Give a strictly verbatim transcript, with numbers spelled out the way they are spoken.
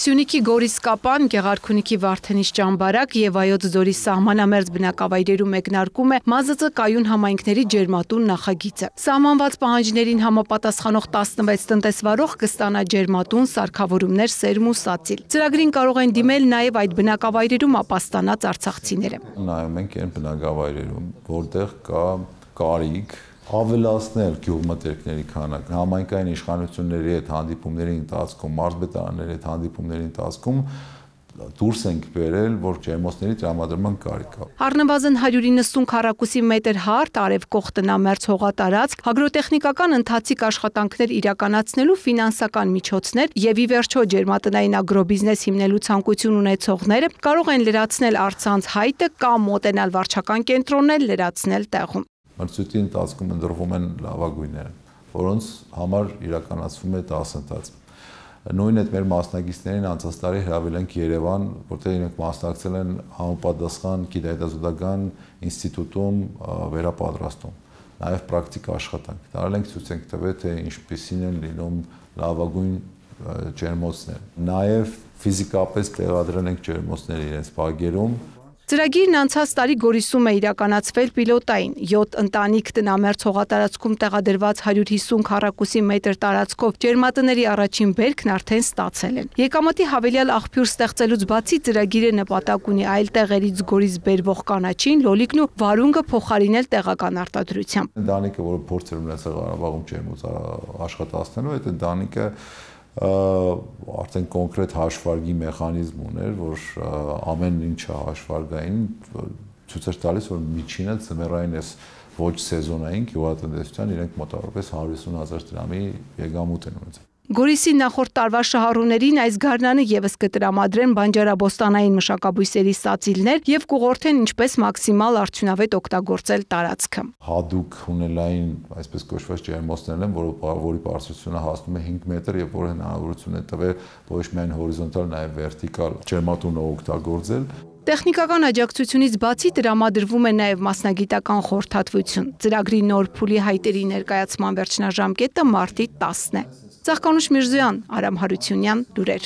Սյունիքի Գորիսկապան, Գեղարքունիքի Վարդենիս ճամբարակ եւ Վայոց ձորի սահմանամերձ բնակավայրերում մեկնարկում է ՄԱԶԾ կայուն համայնքների ջերմատուն նախագիծը։ Սահմանված պահանջներին համապատասխանող տասնվեց տնտեսվարող կստանա ջերմատուն սարքավորումներ Սերմ ու Սացիլ։ Ծրագրին կարող են դիմել նաեւ այդ բնակավայրերում ապաստանած արցախցիները։ Նայում ենք այն բնակավայրերում, որտեղ կա կարիք ավելացնել գյուղմթերքների քանակը, համայնքային իշխանությունների հետ հանդիպումների ընթացքում, մարզպետարանների հետ հանդիպումների ընթացքում դուրս ենք բերել, որ ջերմոցների տրամադրման կարիք կա։ Առնվազն հարյուր իննսուն քառակուսի մետր հարթ, արևկող տնամերձ հողատարածք, հագրոտեխնիկական ընթացիկ աշխատանքներ իրականացնելու ֆինանսական միջոցներ եւ ի վերջո ջերմատնային ագրոբիզնես հիմնելու ցանկություն ունեցողները կարող են լրացնել առցանց հայտը կամ մոտենալ վարչական կենտրոններ լրացնել տեղում։ Մրցույթի ընթացքում ընտրվում են լավագույնները, որոնց համար իրականացվում է դասընթաց։ Նույն այդ մեր մասնակիցներին անցած տարի հրավիրել ենք Երևան, որտեղ իրենք մասնակցել են համապատասխան գիտահետազոտական ինստիտուտում վերապատրաստում, նաև պրակտիկ աշխատանք։ Տարել ենք ցույց ենք տվել, թե ինչպիսին են լինում լավագույն ջերմոցներ։ Նաև ֆիզիկապես տեղադրել ենք ջերմոցները իրենց բակերում։ Ծրագիրն անցած տարի Գորիսում է իրականացվել պիլոտային, յոթ ընտանիք տնամերձ հողատարածքում տեղադրված հարյուր հիսուն քառակուսի մետր տարածքով ջերմատների առաջին բերքն արդեն ստացել են։ Եկամտի հավելյալ աղբյուր ստեղծելուց բացի ծրագիրը նպատակ ունի այլ տեղերից Գորիս բերվող կանաչին, լոլիկն ու վարունգը փոխարինել տեղական արտադրությամբ։ Ընտանիքը, որը փորձ էր ունեցել Ղարաբաղում ջերմոց աշխատացնելու, այդ ընտանիքը արդեն կոնկրետ հաշվարկի մեխանիզմ ուներ, որ ամեն ինչը հաշվարկային ցույց էր տալիս, որ միջինը ձմեռային էս ոչ սեզոնային գյուղատնտեսության իրենք մոտավորապես հարյուր հիսուն հազար դրամի եկամուտ են ունեցել։ Գորիսի նախորդ տարվա շահառուներին այս գարնանը եւս կտրամադրեն բանջարաբոստանային մշակաբույսերի սացիլներ եւ կուղղորդեն ինչպես մաքսիմալ արդյունավետ օգտագործել տարածքը։ Հատուկ հունելային, այսպես կոչված ջերմոցներն են, որի բարձրությունը հասնում է հինգ մետր եւ որը հնարավորություն է տվել ոչ միայն հորիզոնտալ, նաեւ վերտիկալ ջերմատունը օգտագործել։ Տեխնիկական աջակցությունից բացի տրամադրվում է նաև մասնագիտական խորհրդատվություն։ Ծրագրի նոր փուլի հայտերի ներկայացման վերջնաժամկետը մարտի տասն է։ Ծաղկանուշ Միրզոյան, Արամ Հարությունյան, լուրեր։